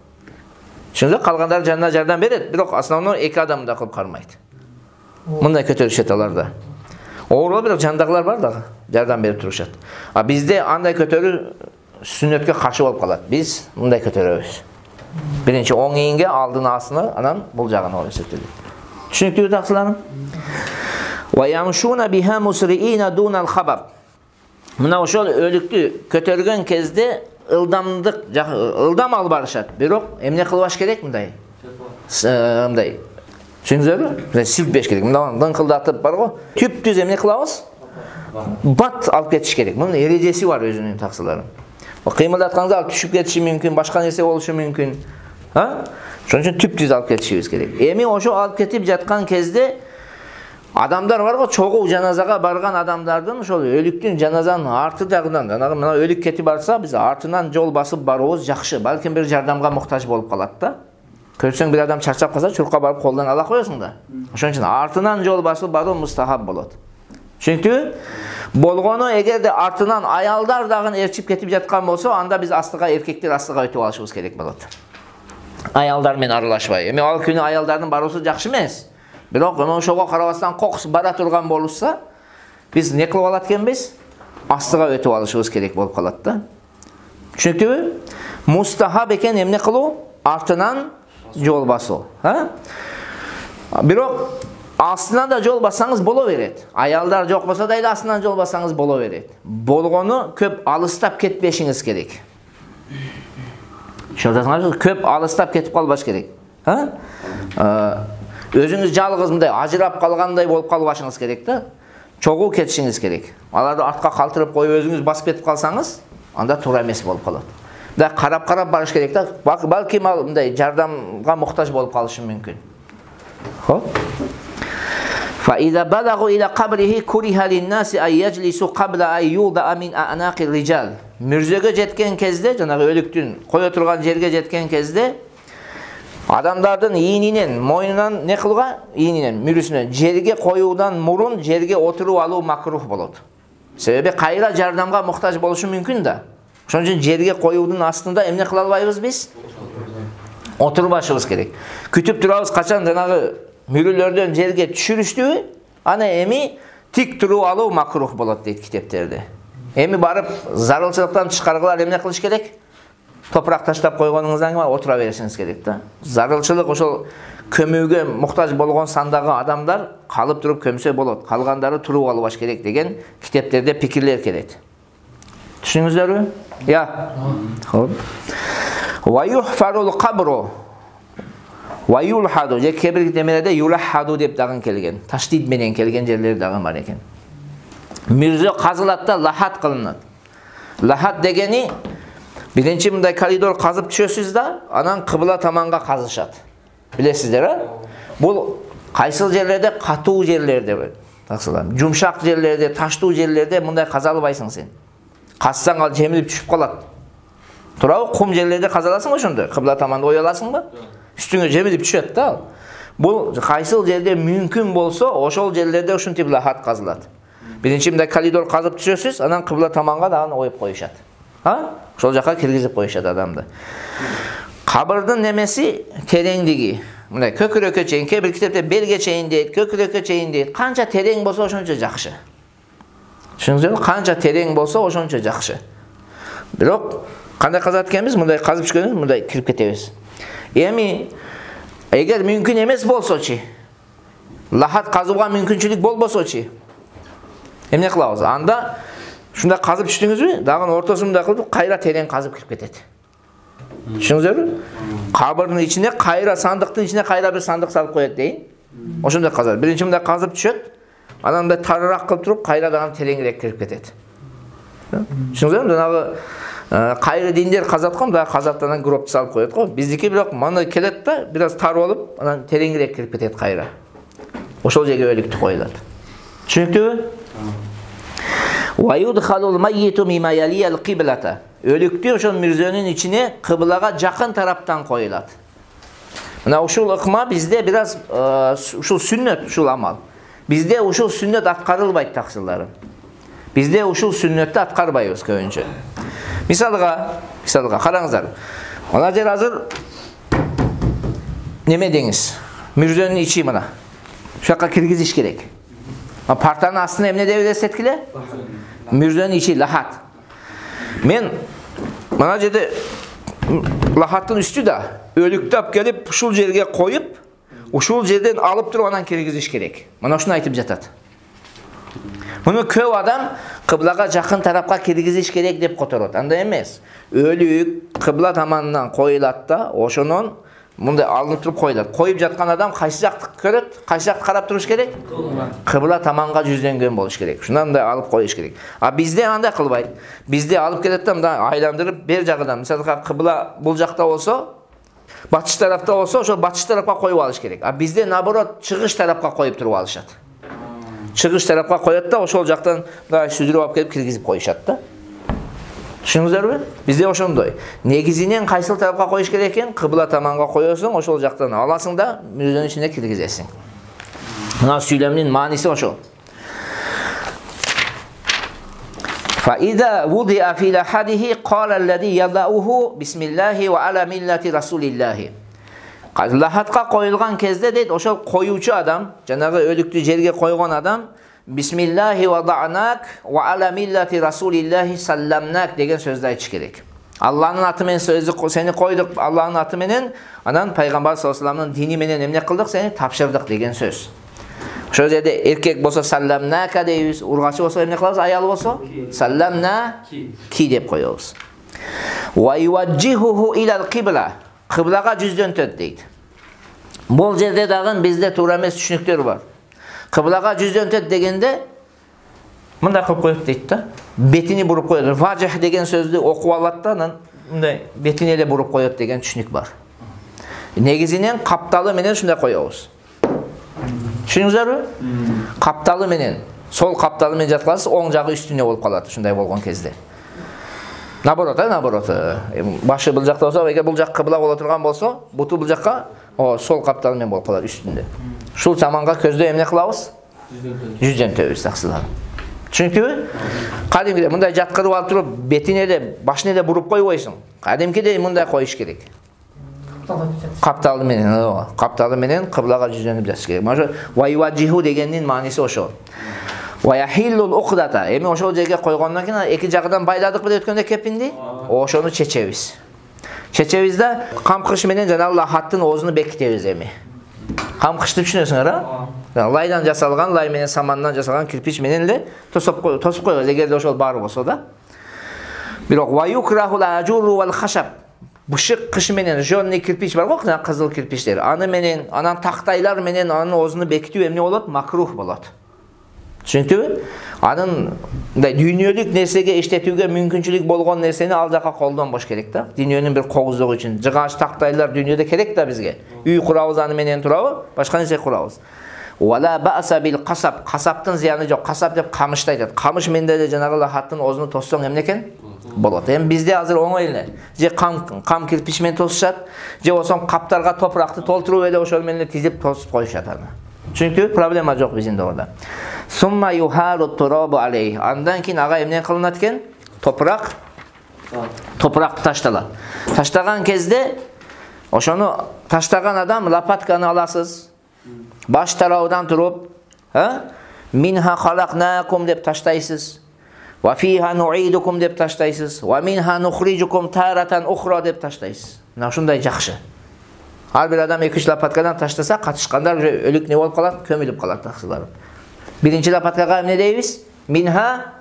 Түшүнүңүздөр, калгандары жанына жардам берет, бирок основной 2 адам мындай кылып кармайт. Мындай көтөрүшөт аларда. Оорула бирок жандагылар бар дагы, жардам берип турушат. А бизде андай көтөрүү сүннөткө каршы болуп калат. Биз мындай көтөрөбүз. Биринчи оң ийинге, алдын астына, анан бул жагына ой эсептелет. Түшүнүктүүбү таксыларым? Ва ямшуна биха мусриина дунал хабаб. Мына ошол өлүктү көтөргөн кезде ылдам алып барышат. Бирок эмне кылбаш керек мындай? Мындай. Түшүнүңүздөрбү? Силтпеш керек. Мындан дыңкылдатып бар го. Түп-түз эмне кылабыз? Бат алып кетиш керек. Мунун эрежеси бар өзүнүн таксыларым. Кыймылдатканда алып түшүп кетиши мүмкүн, башка нерсе болушу мүмкүн. Ошон үчүн түп-түз алып кетишибиз керек. Эми ошо алып кетип жаткан кезде адамдар бар го, чогуу жаназага барган адамдардын ошол өлүктүн жаназанын арты жагынан, мына өлүк кетип барса, биз артынан жол басып баруубуз жакшы. Балким бир жардамга муктаж болуп калат да. Көрсөң бир адам чарчап калса, чуркка барып колдон ала коесуң да. Ошон үчүн артынан жол басып баруу мустахаб болот. Түшүнүктүбү? Болгону эгерде артынан аялдар дагы ээрчип кетип жаткан болсо, анда биз астыга, эркектер астыга өтүп алышыбыз керек болот. Аялдар менен аралашпай. Эми ал күнү аялдардын баруусу жакшы эмес. Бирок ошого карабастан кокус бара турган болушса, биз не кылып алат экенбиз? Астыга өтүп алышыбыз керек болуп калат да. Түшүнүктүбү? Мустахаб экен эмне кылуу? Артынан жол басуу. Бирок астынан да жол бассаңыз боло берет. Аялдар жок болсо да эле астынан жол бассаңыз боло берет. Болгону көп алыстап кетпешиңиз керек. Шолдасыңарбы? Көп алыстап кетип калбаш керек. Өзүңүз жалгыз мындай ажырап калгандай болуп калбашыңыз керек да. Чогуу кетишиңиз керек. Аларды артка калтырып коюп өзүңүз басып кетип калсаңыз, анда туура эмес болуп калат. Да карап барыш керек да. Балким ал мындай жардамга муктаж болуп калышы мүмкүн. Хоп. Fa idza balagu ila qabrihi kuriha lin-nasi ay yajlisu qabla ay yuda min a'naqir rijal. Мүрзөгө жеткен кезде, жанагы өлүктүн кое турган жерге жеткен кезде адамдардын ийининен, мойнунан не кылга? Ийининен, мүрүсүнөн жерге коюудан мурун жерге отуруп алуу макрух болот. Себеби кайра жардамга муктаж болушу мүмкүн да. Ошон үчүн жерге коюудун астында эмне кыла албайбыз биз? Отурбашыбыз керек. Күтүп турабыз качан жанагы мүрүлөрдөн жерге түшүрүштүбү? Ана эми тик туруп алуу макрух болот дейт китептерде. Эми барып зарылчылыктан тышкаргылар эмне кылыш керек? Топурак таштап койгонуңуздан кийин отура беришиңиз керек да. Зарылчылык ошол көмүүгө муктаж болгон сандагы адамдар калып туруп көмсө болот. Калгандары туруп албаш керек деген китептерде пикирлер келет. Түшүнүңүздөрбү? Я. Хоп. Ва юхфарул кабру ва юлхаду. Же кебир демелерде юлхаду деп дагы келген. Таштид менен келген жерлер дагы бар экен. Мүрзө казылат да лахат кылынат. Лахат дегени биринчи мындай коридор казып түшөсүз да, анан кыбла таманга казышат. Билесиздер, Бул кайсыл жерлерде? Катуу жерлерде, таксылар. Жумшак жерлерде, таштуу жерлерде мындай каза албайсың сен. Казсаң ал жемилип түшүп калат. Туурабы? Кум жерлерде казаласың ошондо, кыбла таманда ой аласыңбы? Үстүңө жемилип түшөт да ал. Бул кайсыл жерде мүмкүн болсо, ошол жерлерде ушинтип лахат казылат. Биринчи мындай коридор казып түшөсүз, анан кыбла таманга дагы оюп коюшат. Ошол жака киргизип коюшат адамды. Кабырдын немеси тереңдиги. Мындай көкүрөккө чейин, кээ бир китепте белге чейин дейт, көкүрөккө чейин дейт. Канча терең болсо ошончо жакшы. Түшүнүңүздөрбү? Канча терең болсо ошончо жакшы. Бирок кандай казат экенбиз? Мындай казып түшкөнүбүз, мындай кирип кетебиз. Эми эгер мүмкүн эмес болсочу, лахат казууга мүмкүнчүлүк болбосочу, эмне кылабыз? Анда шундай казып түштүңүзбү? Дагы ортосунда кылып кайра терең казып кирип кетет. Түшүнүңүздөрбү? Кабырдын ичине кайра сандыктын ичине кайра бир сандык салып коет дейин. Ошондой казат. Биринчи мындай казып түшөт, анан мындай тарыраак кылып туруп кайра дагы тереңирээк кирип кетет. Түшүнүңүздөрбү? Жанагы кайры диндер казаткан, дагы казаттан гробду салып коет го. Биздики бирок мындай келет да, бир аз тар болуп, анан тереңирээк кирип кетет кайра. Ошол жерге өлүктү коюлат. Түшүнүктүүбү? Wa yudkhalul mayyitu mimma yaliyal qiblata. Өлүктү ошол мүрзөнүн ичине кыблага жакын тараптан коюлат. Мына ушул ыкма бизде бираз ушул сүннөт, ушул амал. Бизде ушул сүннөт аткарылбайт таксыларым. Бизде ушул сүннөттү аткарбайбыз көбүнчө. Мисалга караңыздар. Мына жер азыр неме деңиз? Мүрзөнүн ичи мына. Ушул жака киргизиш керек. Партанын астына эмне деп элестеткиле? Мүрзөнүн ичи лахат. Мен мына жерде лахаттын үстү да өлүктү алып келип ушул жерге коюп, ушул жерден алып туруп анан киргизиш керек. Мына ушуну айтып жатат. Муну көп адам кыблага жакын тарапка киргизиш керек деп которот. Андай эмес. Өлүк кыбла таманынан коюлат да, ошонун мындай алынып туруп коюлат. Коюп жаткан адам кайсы жакты көрөт? Кайсы жакты карап туруш керек? Кыбла таманга жүздөнгөн болуш керек. Шундан мындай алып коюш керек. А бизде андай кылбайт. Бизде алып келет да мындай айландырып бер жагынан, мисалга кыбла бул жакта болсо, батыш тарапта болсо, ошол батыш тарапка коюп алыш керек. А бизде наоборот чыгыш тарапка коюп туруп алышат. Чыгыш тарапка коёт да, ошол жактан мындай сүзүрүп алып келип киргизип коюшат да. Түшүндүңүздарбы? Бизде ошондой. Негизинен кайсыл тарапка коюш керек экен? Кыбла таманга коесуң, ошол жактан аласың да мүрзөнүн ичине киргизесиң. Мына сүйлөмдүн мааниси ошол. Fa idza wudi'a fi lahadihi qala alladhi yada'uhu bismillahi wa ala millati rasulillah. Лахатка коюлган кезде дейт, ошол коюучу адам, жанагы өлүктү жерге койгон адам Бисмиллахи ва дa'нак ва аля миллати расулиллахи салламнак деген сөздү айтыш керек. Алланын аты менен сени койдук, Алланын аты менен, анан пайгамбар саллаллаху алейхи вассаламдын дини менен эмне кылдык, сени тапшырдык деген сөз. Ошол жерде эркек болсо салламнака дейбиз, ургачы болсо эмне кылабыз, аял болсо салламна ки деп коебуз. Ва юважжихуху илал кибла. Кыблага жүздөнтөт дейт. Бул жерде дагы бизде туура эмес түшүнүктөр бар. Кыблага жүздөнтөт дегенде мындай кылып коет дейт да. Бетини буруп коет. Важих деген сөздү окуп алат да, анан мындай бетине эле буруп коет деген түшүнүк бар. Негизинен капталы менен ушундай коебуз. Түшүнүңүздөрбү? Капталы менен, сол капталы менен жаткансыз, оң жагы үстүнө болуп калат ушундай болгон кезде. Наоборот. Башы бул жакта болсо, эгер бул жак кыбла боло турган болсо, буту бул жакка, сол капталы менен болуп калат үстүндө. Ушул таманга көздөө эмне кылабыз? Жүздөнтөбүз таксылар. Түшүнүктүбү? Кадимкидей мындай жаткырып алып туруп, бетине эле, башына эле буруп койбойсуң. Кадимкидей мындай коюш керек. Капталы менен кыблага жүздөнүп жатыш керек. Мына вайваджиху дегендин мааниси ошол. Ваяхиллул уқдата. Эми ошол жерге койгондон кийин эки жагынан байладык беле өткөндө кепинди. Ошону чечебиз. Чечебиз да камкыш менен жанагы лахаттын оозуну бекитебиз эми. Камкышты түшүнөсүңөр, а? Лайдан жасалган, лай менен самандан жасалган кирпич менен эле тосуп коебуз, эгерде ошол бар болсо да. Бирок ваюкрахул ажуру вал хашаб. Бышык кыш менен жонный кирпич бар го, кызыл кирпичтер. Аны менен, анан тактайлар менен анын оозуну бекитүү эмне болот? Макрух болот. Түшүнүктүбү? Анын мындай дүйнөлүк нерсеге иштетүүгө мүмкүнчүлүк болгон нерсени ал жака колдонбош керек да. Дүйнөнүн бир когуздугу үчүн. Жыгач тактайлар дүйнөдө керек да бизге. Үй курабыз, аны менен турабы? Башка нерсе курабыз. Вала бааса бил касап. Касаптын зыяны жок. Касап деп камышты айтат. Камыш менен деле жанагы лахаттын оозуну тоссоң эмне экен? Болот. Эми бизде азыр оңой эле. Же кам кирпич менен тосушат, же болсо каптарга топуракты толтуруп эле ошол менен тизип тосуп коюшат аны. Түшүнүктүбү? Проблема жок биздин орда. Сумма юхару турабу алей. Андан кийин ага эмне кылынат экен? Топурак ташталат. Таштаган кезде ошону таштаган адам лопатканы аласыз. Баш тарабынан туруп, минха халакнакум деп таштайсыз. Ва фиха нуидукум деп таштайсыз. Ва минха нухриджукум таратан ухра деп таштайсыз. Мына ушундай жакшы. Ар бир адам 2-3 лопаткадан таштаса, катышкандар өлүк не болуп калат? Көмүлүп калат таксыларым. Биринчи лопаткага эмне дейбиз? Минха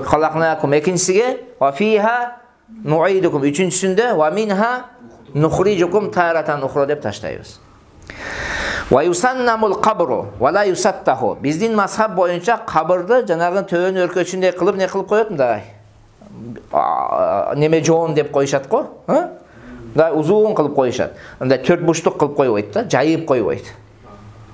халакнакум. Экинчисиге ва фиха нуидукум. Үчүнчүсүндө ва минха нухриджукум таратан ухра деп таштайбыз. Ва юсаннамул кабру ва ла юсаттаху. Биздин мазхаб боюнча кабырды жанагы төбөнүн өркөчүндөй кылып не кылып коет мындай. Неме жоон деп коюшат го, мындай узун кылып коюшат. Мындай 4 бурчтук кылып койбойт да, жайып койбойт.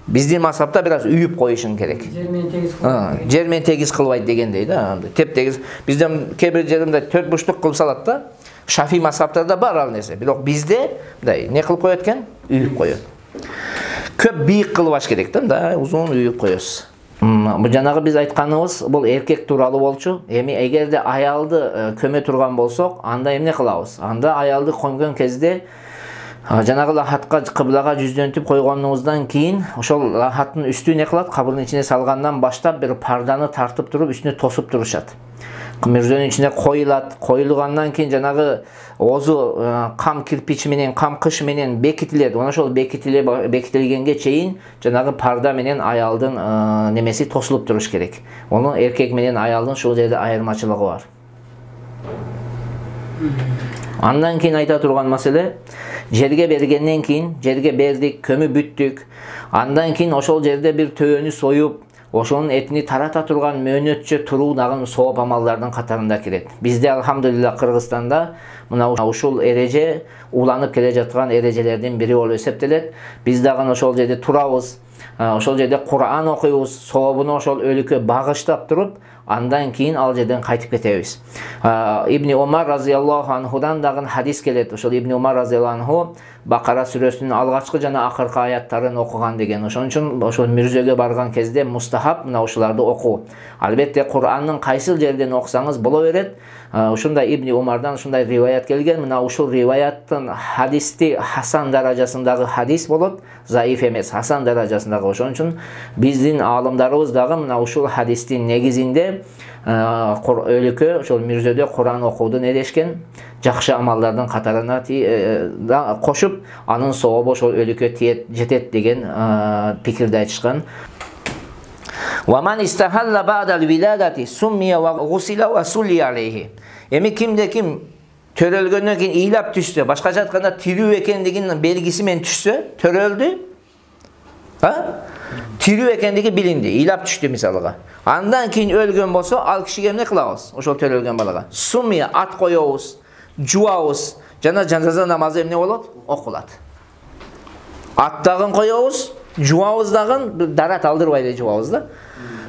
Биздин мазхабта бир аз үйүп коюшуң керек. Жер менен тегиз кылбайт. Жер менен тегиз кылбайт дегендей да. Теп тегиз бизден кээ бир жеринде 4 бурчтук кылып салат да. Шафи мазхабтарда бар ал нерсе. Бирок бизде мындай не кылып коет экен? Үйүп коет. Көп бийик кылбаш керек да, мындай узун үйүп коесуз. Бул жанагы биз айтканыбыз бул эркек тууралуу болчу. Эми эгерде аялды көмө турган болсок, анда эмне кылабыз? Анда аялды көмгөн кезде жанагы лахатка кыблага жүздөнтүп койгонубуздан кийин ошол лахаттын үстү не кылат? Кабырдын ичине салгандан баштап бир парданы тартып туруп үстүнө тосуп турушат. Мүрзөнүн ичине коюлат. Коюлгандан кийин жанагы оозу кам кирпич менен, кам кыш менен бекитилет. Ошол бекитилгенге чейин жанагы парда менен аялдын немеси тосулуп туруш керек. Ону эркек менен аялдын ушул жерде айырмачылыгы бар. Андан кийин айта турган маселе, жерге бергенден кийин, жерге бердик, көмү бүттүк. Андан кийин ошол жерде бир төөнү союп, ошонун этини тарата турган мөөнөтчө туруу дагы сооп амалдардын катарында кирет. Бизде алхамдулилла Кыргызстанда мына ушул эреже уланып келе жаткан эрежелердин бири болуп эсептелет. Биз дагы ошол жерде турабыз. Ошол жерде Кур'ан окуйбуз, сообуну ошол өлүккө багыштап туруп, андан кийин ал жерден кайтып кетебиз. Ибн Умар разияллаху анхудан дагы хадис келет. Ошол Ибн Умар разияллаху анху Бакара сүрөсүнүн алгачкы жана акыркы аяттарын окуган деген. Ошон үчүн ошол мүрзөгө барган кезде мустахаб мына ушуларды окуу. Албетте Кур'андын кайсыл жерден окусаңыз боло берет. Ушундай Ибн Умардан ушундай риваят келген. Мына ушул риваяттын хадисти хасан даражасындагы хадис болот, заиф эмес, хасан даражасындагы. Ошон үчүн биздин аалымдарыбыз дагы мына ушул хадистин негизинде өлүккө ошол мүрзөдө Кур'ан окууду не дешкен? Жакшы амалдардын катарына кошуп, анын сообу ошол өлүккө жетет деген пикирди айтышкан. وَمَنْ إِسْتَحَلَّ بَعْدَ الْوِلَادَةِ سُمِّيَ وَغُسِلَ وَسُلِّيَ عَلَيْهِ. Эми кимде-ким төрөлгөндөн кийин ыйлап түшсө, башкача айтканда тирүү экендигинин белгиси менен түшсө, төрөлдү. Тирүү экендиги билинди, ыйлап түштү мисалга. Андан кийин өлгөн болсо, ал кишиге эмне кылабыз? Ошол төрөлгөн балага сумия ат коёбуз, жуабыз, жана жаназа намазы эмне болот? Окулат. Ат дагы коёбуз, жуабыз дагы дарат алдырбай эле жуабыз да.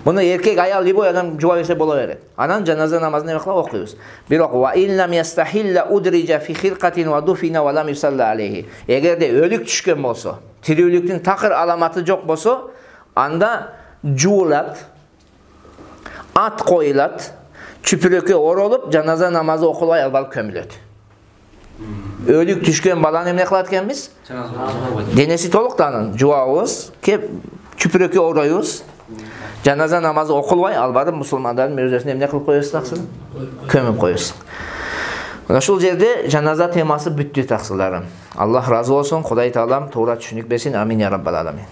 Муну эркек, аял любой адам жуа берсе боло берет. Анан жаназа намазын эме кылып окуйбуз. Бирок ва иллам ястахилла удриджа фи хиркатин ва дуфина ва лам юсалла алейхи. Эгерде өлүк түшкөн болсо, тирүүлүктүн такыр аламаты жок болсо, анда жуулат, ат коюлат, чүпүрөккө оролуп, жаназа намазы окулбай албалып көмүлөт. Өлүк түшкөн баланы эмне кылат экенбиз? Денеси толук да анын жуабыз, кеп чүпүрөккө ороюбуз. Жаназа намазы окулбай ал барып мусулмандардын мүрзөсүнө эмне кылып коесуз таксын? Көмүп коесуз. Ушул жерде жаназа темасы бүттү таксыларым. Аллах разы болсун, Кудай таалам туура түшүнүк берсин. Амин я раббал аламин.